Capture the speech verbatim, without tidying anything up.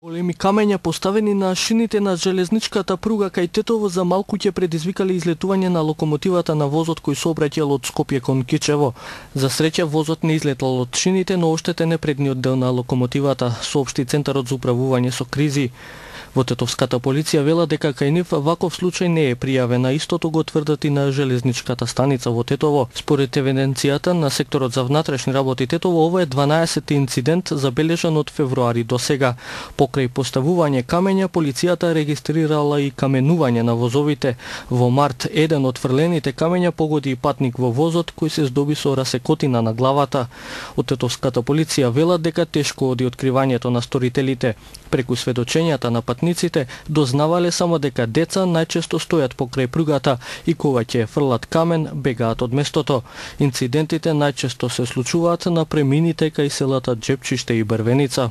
Големи камења поставени на шините на железничката пруга кај Тетово за малку ќе предизвикале излетување на локомотивата на возот кој сообраќал од Скопје кон Кичево. За среќа возот не излетал од шините, но оштетен е предниот дел на локомотивата, соопшти Центарот за управување со кризи. Во тетовската полиција вела дека кај нив ваков случај не е пријавен, истото го тврдат и на железничката станица во Тетово. Според евиденцијата на секторот за внатрешни работи Тетово, ова е дванаесети инцидент забележан од февруари до сега. Покрај поставување камења, полицијата регистрирала и каменување на возовите. Во март еден од фрлените камења погоди и патник во возот кој се здоби со расекотина на главата. Од тетовската полиција велат дека тешко оди откривањето на сторителите. Преку сведочењата на патниците дознавале само дека деца најчесто стојат покрај пругата и кога ќе фрлат камен бегаат од местото. Инцидентите најчесто се случуваат на премините кај селата Джепчиште и Брвеница.